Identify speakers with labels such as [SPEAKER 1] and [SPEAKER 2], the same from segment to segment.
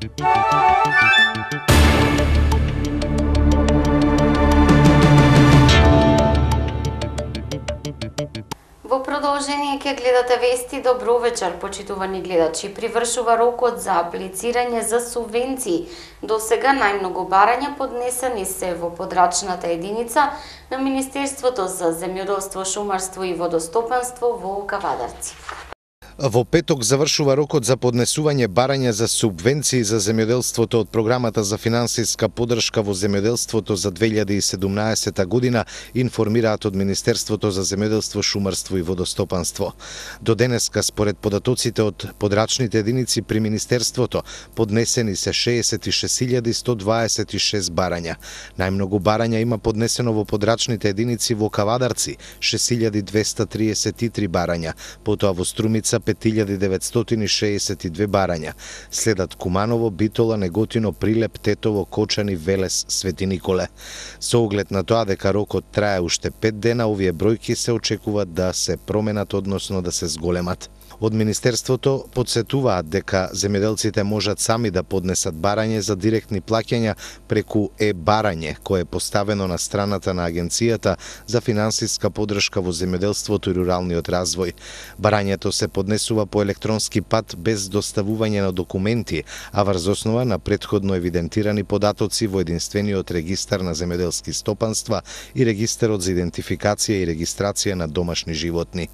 [SPEAKER 1] Во продолжение ќе гледате вести. Добро вечер, почитувани гледачи. Привршува рокот за аплицирање за субвенции. До сега најмногу барања поднесени се во подрачната единица на Министерството за земјоделство, шумарство и водостопанство во Кавадарци.
[SPEAKER 2] Во петок завршува рокот за поднесување барања за субвенции за земјоделството од програмата за финансиска поддршка во земјоделството за 2017 година, информираат од Министерството за земјоделство, шумарство и водостопанство. До денеска, според податоците од подрачните единици при Министерството, поднесени се 66.126 барања. Најмногу барања има поднесено во подрачните единици во Кавадарци, 6.233 барања, потоа во Струмица 5.962 барања. Следат Куманово, Битола, Неготино, Прилеп, Тетово, Кочани, Велес, Свети Николе. Со оглед на тоа дека рокот трае уште 5 дена, овие бројки се очекува да се променат, односно да се зголемат. Од Министерството подсетуваат дека земјоделците можат сами да поднесат барање за директни плаќања преку е-барање, кое е поставено на страната на Агенцијата за финансиска поддршка во земјоделството и руралниот развој. Барањето се поднесува по електронски пат без доставување на документи, а врз основа на претходно евидентирани податоци во единствениот регистар на земјоделски стопанства и регистарот за идентификација и регистрација на домашни животни.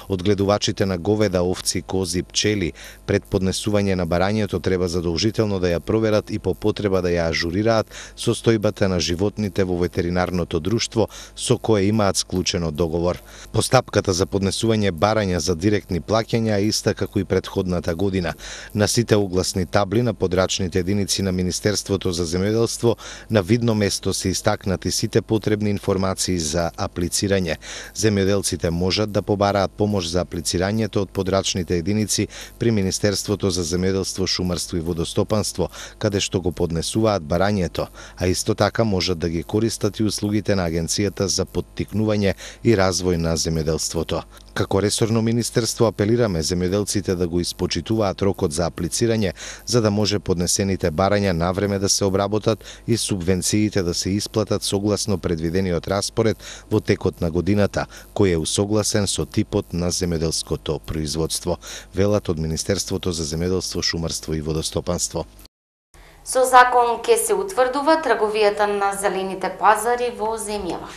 [SPEAKER 2] Одгледувачите на говеда, овци, кози, пчели пред поднесување на барањето треба задолжително да ја проверат и по потреба да ја ажурираат состојбата на животните во ветеринарното друштво со кое имаат склучено договор. Постапката за поднесување барања за директни плаќања е иста како и претходната година. На сите огласни табли на подрачните единици на Министерството за земјоделство на видно место се истакнати сите потребни информации за аплицирање. Земјоделците можат да побараат помош за аплицирањето од подрачните единици при Министерството за земјоделство, шумарство и водостопанство, каде што го поднесуваат барањето, а исто така можат да ги користат и услугите на Агенцијата за поттикнување и развој на земјоделството. Како ресорно министерство апелираме земјоделците да го испочитуваат рокот за аплицирање, за да може поднесените барања навреме да се обработат и субвенциите да се исплатат согласно предвидениот распоред во текот на годината, кој е усогласен со типот на земјоделското производство, велат од Министерството за земјоделство, шумарство и водостопанство.
[SPEAKER 1] Со закон ќе се утврдува трговијата на зелените пазари во земјава.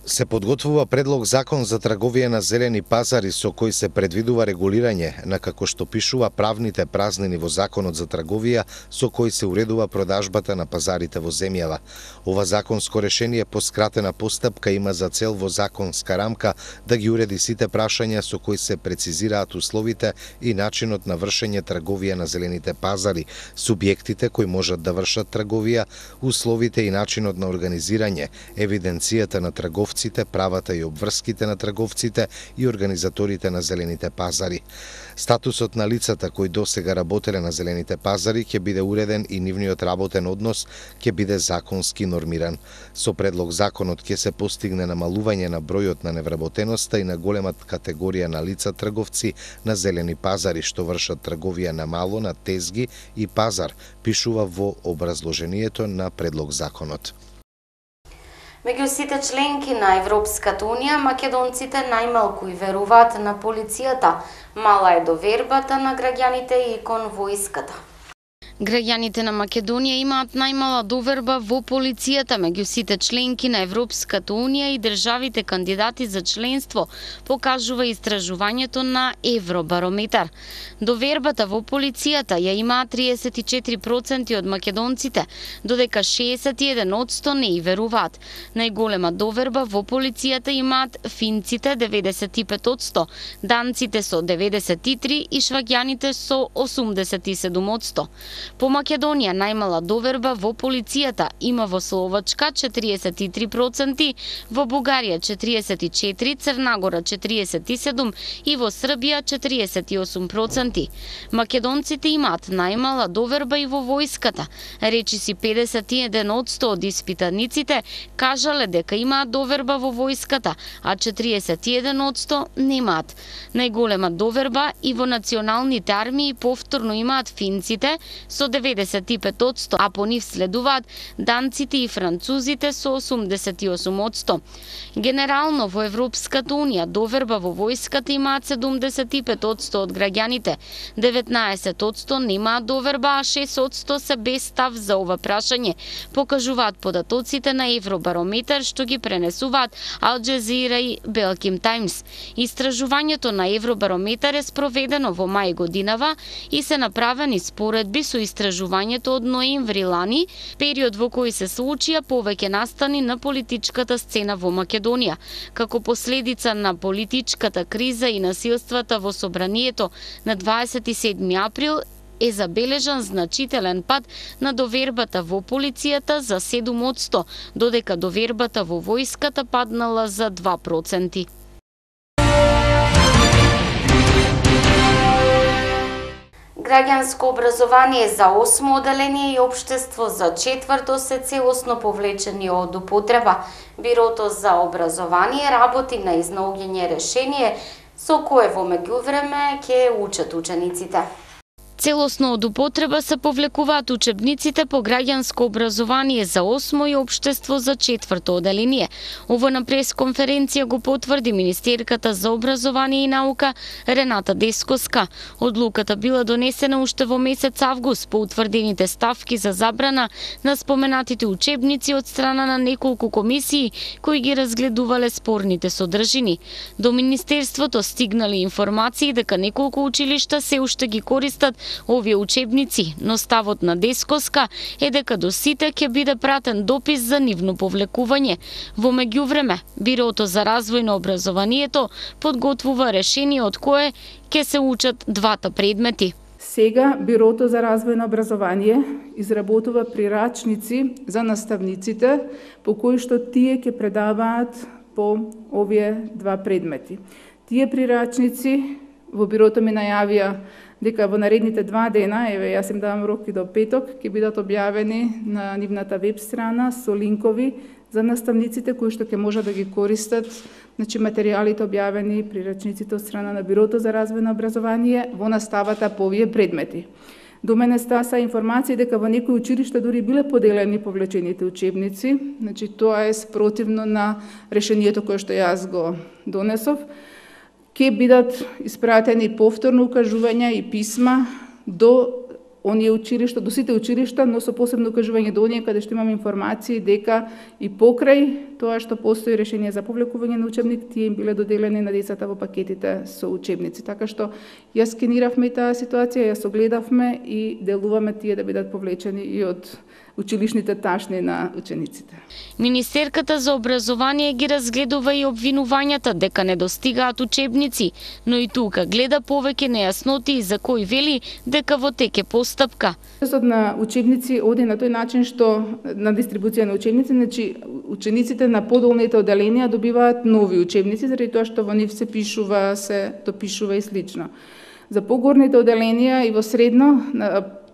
[SPEAKER 2] Се подготвува предлог закон за трговија на зелени пазари со кој се предвидува регулирање на, како што пишува, правните празнини во законот за трговија со кој се уредува продажбата на пазарите во земјава. Ова законско решение по скратена постапка има за цел во законска рамка да ги уреди сите прашања со кои се прецизираат условите и начинот на вршење трговија на зелените пазари, субјектите кои можат да вршат трговија, условите и начинот на организирање, евиденцијата на трговците, правата и обврските на трговците и организаторите на зелените пазари. Статусот на лицата кои досега работеле на зелените пазари ќе биде уреден и нивниот работен однос ќе биде законски нормиран. Со предлог законот ќе се постигне намалување на бројот на невработеноста и на големата категорија на лица трговци на зелени пазари што вршат трговија на мало, на тезги и пазар, пишува во образложението на предлог законот.
[SPEAKER 1] Меѓу сите членки на Европската унија, македонците најмалку и веруваат на полицијата. Мала е довербата на граѓаните и кон војската.
[SPEAKER 3] Граѓаните на Македонија имаат најмала доверба во полицијата меѓу сите членки на Европската унија и државите кандидати за членство, покажува истражувањето на Евробарометар. Довербата во полицијата ја имаат 34% од македонците, додека 61% не и веруваат. Најголема доверба во полицијата имаат финците 95%, данците со 93% и шваѓаните со 87%. По Македонија најмала доверба во полицијата има во Словачка 43%, во Бугарија 44%, Црнагора 47% и во Србија 48%. Македонците имаат најмала доверба и во војската. Речиси 51% од испитаниците кажале дека имаат доверба во војската, а 41% немаат. Најголема доверба и во националните армии повторно имаат финците со 95%, а по нив следуваат данците и французите со 88%. Генерално во Европската унија доверба во војската имаат 75% од граѓаните, 19% немаат доверба, а 6% се без став за ова прашање, покажуваат податоците на Евробарометар што ги пренесуваат Ал Джазира и Белким Таймс. Истражувањето на Евробарометар е спроведено во мај годинава и се направени споредби со истражувањето од ноември лани, период во кој се случија повеќе настани на политичката сцена во Македонија. Како последица на политичката криза и насилствата во собранието на 27 април е забележан значителен пад на довербата во полицијата за 7%, додека довербата во војската паднала за 2%.
[SPEAKER 1] Граѓанско образование за 8 оделение и општество за 4 се целосно повлечени од употреба. Бирото за образование работи на изнаоѓање решение со кое во меѓувреме ќе учат учениците.
[SPEAKER 3] Целосно од употреба се повлекуваат учебниците по граѓанско образование за 8 и општество за 4 оделение. Ово на пресконференција го потврди министерката за образование и наука Рената Дескоска. Одлуката била донесена уште во месец август по утврдените ставки за забрана на споменатите учебници од страна на неколку комисии кои ги разгледувале спорните содржини. До министерството стигнали информации дека неколку училишта се уште ги користат овие учебници, но ставот на Дескоска е дека до сите ќе биде пратен допис за нивно повлекување. Во меѓувреме, Бирото за развој на образованието подготвува решение од кое ќе се учат двата предмети.
[SPEAKER 4] Сега Бирото за развој на образование изработува прирачници за наставниците по кои што тие ќе предаваат по овие два предмети. Тие прирачници во Бирото ми најавија дека во наредните 2 дена, еве јас им давам рок и до петок, ќе бидат објавени на нивната веб страна со линкови за наставниците кои што ќе можат да ги користат, значи материјалите објавени прирачниците од страна на Бирото за развој на образование во наставата по овие предмети. До мене стаса информација дека во некои училишта дури биле поделени повлечените учебници, значи тоа е спротивно на решението кое што јас го донесов. Ќе бидат испратени повторно укажувања и писма до оние училишта, до сите училишта, но со посебно укажување до оние каде што имам информации дека и покрај тоа што постои решение за повлекување на учебник, тие им биле доделени на децата во пакетите со учебници. Така што јас скениравме и таа ситуација, јас огледавме и делуваме тие да бидат повлечени и од училишните ташни на учениците.
[SPEAKER 3] Министерката за образование ги разгледува и обвинувањата дека не достигаат учебници, но и тука гледа повеќе нејасноти за кои вели дека во тек е постапка.
[SPEAKER 4] Процесот на учебници оди на тој начин што на дистрибуција на учебници, значи учениците на подолните оделенија добиваат нови учебници заради тоа што во нив се пишува, се допишува и слично. За погорните оделенија и во средно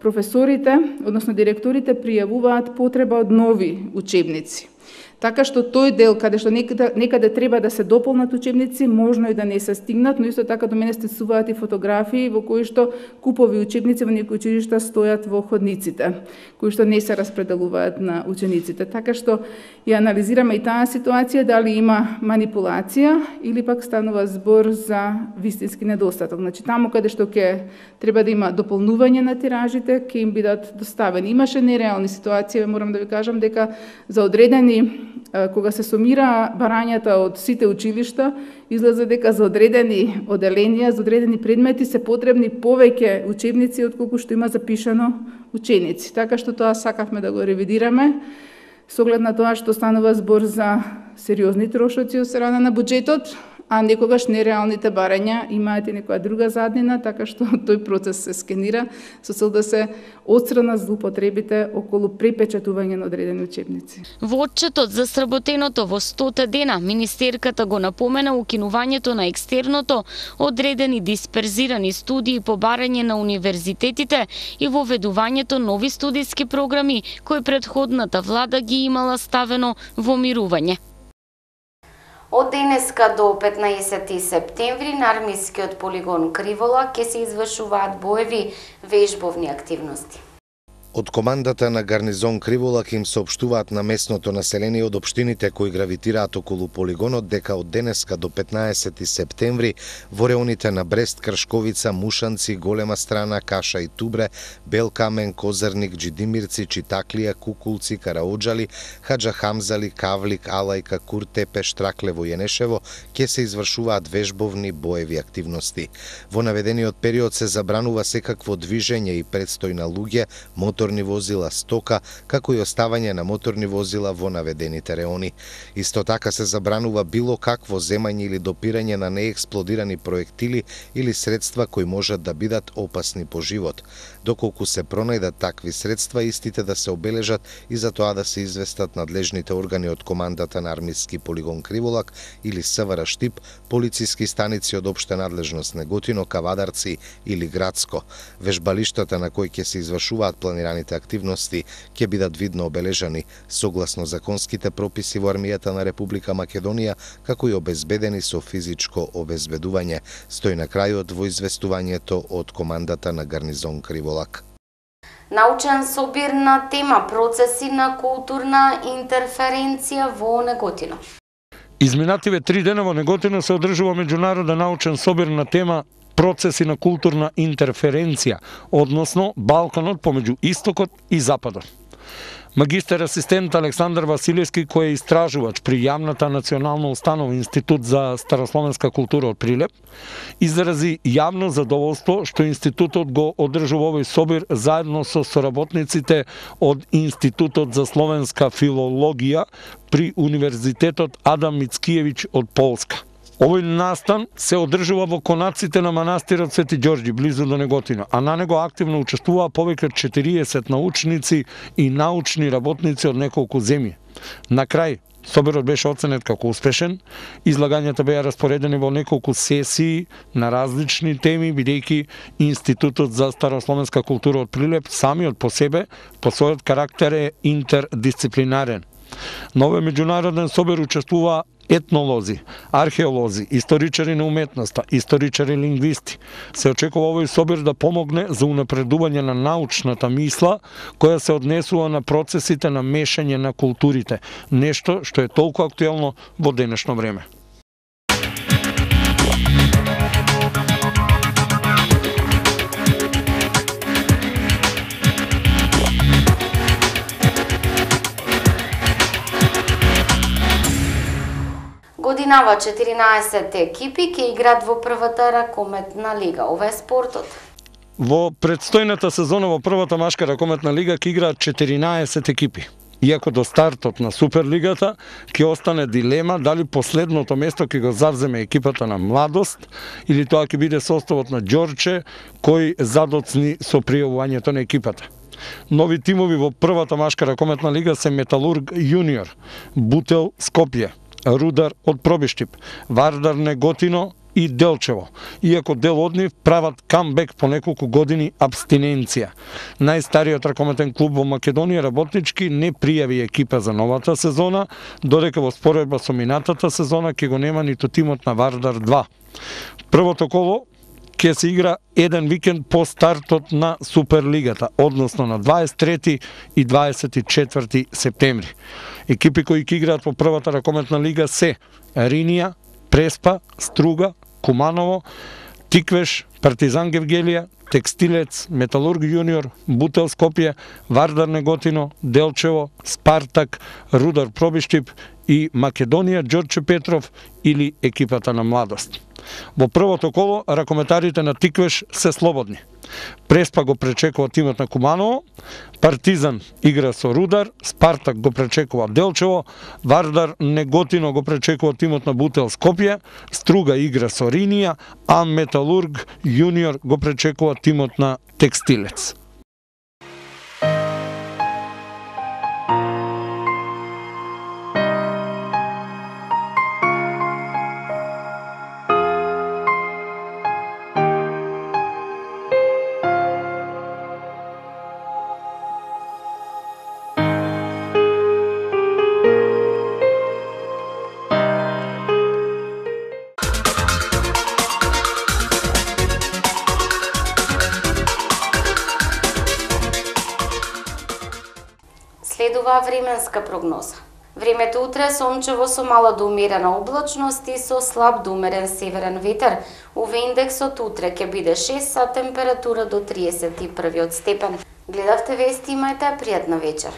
[SPEAKER 4] професорите, односно директорите, пријавуваат потреба од нови учебници. Така што тој дел каде што некаде треба да се дополнат учебници, можно и да не се стигнат, но исто така до мене стисуваат и фотографии во кои што купови учебници во некои училишта стојат во ходниците, кои што не се распределуваат на учениците. Така што ја анализираме и таа ситуација, дали има манипулација или пак станува збор за вистински недостаток. Значи таму каде што ќе треба да има дополнување на тиражите, ќе им бидат доставени. Имаше нереални ситуации, морам да ви кажам дека за одредени кога се сумира барањата од сите училишта, излезе дека за одредени оделенија, за одредени предмети се потребни повеќе учебници отколку што има запишано ученици. Така што тоа сакавме да го ревидираме, со оглед на тоа што станува збор за сериозни трошоци од страна на буџетот, а некогаш нереалните барања имаат и некоја друга заднина, така што тој процес се скенира со цел да се отстранат злоупотребите околу препечатување на одредени учебници.
[SPEAKER 3] Во отчетот за сработеното во 100 дена, министерката го напомена укинувањето на екстерното, одредени дисперзирани студии по барање на универзитетите и воведувањето нови студиски програми кои претходната влада ги имала ставено во мирување.
[SPEAKER 1] Од денеска до 15 септември на армискиот полигон Кривола ќе се извршуваат боеви вежбовни активности.
[SPEAKER 2] Од командата на гарнизон Криволак им соопштуваат на местното население од општините кои гравитираат околу полигонот дека од денеска до 15 септември во реоните на Брест, Кршковица, Мушанци, Голема Страна, Каша и Тубре, Белкамен, Козарник, Джидимирци, Читаклија, Кукулци, Караоджали, Хаджа Хамзали, Кавлик, Алајка, Куртепе, Штраклево и Енешево ќе се извршуваат вежбовни боеви активности. Во наведениот период се забранува секакво движење и предстој на луѓе, моторни возила, стока, како и оставање на моторни возила во наведените реони. Исто така се забранува било какво земање или допирање на неексплодирани проектили или средства кои можат да бидат опасни по живот. Доколку се пронајдат такви средства, истите да се обележат и за тоа да се известат надлежните органи од командата на армиски полигон Криволак или СВР Штип, полициски станици од општа надлежност Неготино, Кавадарци или Градско. Вежбалиштата на кои ќе се извршуваат планираните активности ќе бидат видно обележани согласно законските прописи во армијата на Република Македонија, како и обезбедени со физичко обезбедување, стои на крајот во известувањето од командата на гарнизон Криволак.
[SPEAKER 1] Научен собир на тема процеси на културна интерференција во Неготино.
[SPEAKER 5] Изминативе 3 дена во Неготино се одржува меѓународен научен собир на тема процеси на културна интерференција, односно Балканот помеѓу Истокот и Западот. Магистер асистент Александар Василевски, кој е истражувач при јавната национална установа Институт за старословенска култура од Прилеп, изрази јавно задоволство што институтот го одржува овој собир заедно со соработниците од Институтот за словенска филологија при Универзитетот Адам Мицкиевиќ од Полска. Овој настан се одржува во конаците на манастирот Свети Ѓорѓи, близу до Неготино, а на него активно учествуваа повеќе од 40 научници и научни работници од неколку земји. На крај, собирот беше оценет како успешен, излагањата беа распоредени во неколку сесии на различни теми, бидејќи Институтот за старословенска култура од Прилеп самиот по себе, по својот карактер е интердисциплинарен. На овој меѓународен собир учествуваа етнолози, археолози, историчари на уметноста, историчари лингвисти. Се очекува овој собир да помогне за унапредување на научната мисла која се однесува на процесите на мешање на културите, нешто што е толку актуелно во денешно време.
[SPEAKER 1] Годинава 14 екипи ќе играат во првата ракометна лига. Ова е спортот.
[SPEAKER 5] Во предстојната сезона во првата машка ракометна лига ќе играат 14 екипи. Иако до стартот на Суперлигата ќе остане дилема дали последното место ќе го завземе екипата на Младост или тоа ќе биде составот на Ѓорче кој задоцни со пријавувањето на екипата. Нови тимови во првата машка ракометна лига се Металург Јуниор, Бутел Скопје, Рудар од Пробиштип, Вардар Неготино и Делчево, иако дел од нив прават камбек по неколку години абстиненција. Најстариот ракометен клуб во Македонија, Работнички, не пријави екипа за новата сезона, додека во споредба со минатата сезона ќе го нема ниту тимот на Вардар 2. Првото коло ќе се игра еден викенд по стартот на Суперлигата, односно на 23 и 24 септември. Екипи кои ќе играат во првата ракометна лига се Ринија, Преспа, Струга, Куманово, Тиквеш, Партизан Гевгелија, Текстилец, Металург Јуниор, Бутел Скопје, Вардар Неготино, Делчево, Спартак, Рудар Пробиштип и Македонија Ѓорче Петров или екипата на Младост. Во првото коло ракометарите на Тиквеш се слободни. Преспа го пречекува тимот на Куманово, Партизан игра со Рудар, Спартак го пречекува Делчево, Вардар Неготино го пречекува тимот на Бутел Скопје, Струга игра со Ринија, а Металург Јуниор го пречекува тимот на Текстилец.
[SPEAKER 1] следува временска прогноза. Времето утре сончево со мала до умерена облачност и со слаб до умерен северен ветер. УВ индексот утре ќе биде 6 со температура до 31 степен. Гледавте вести, имајте пријатна вечер.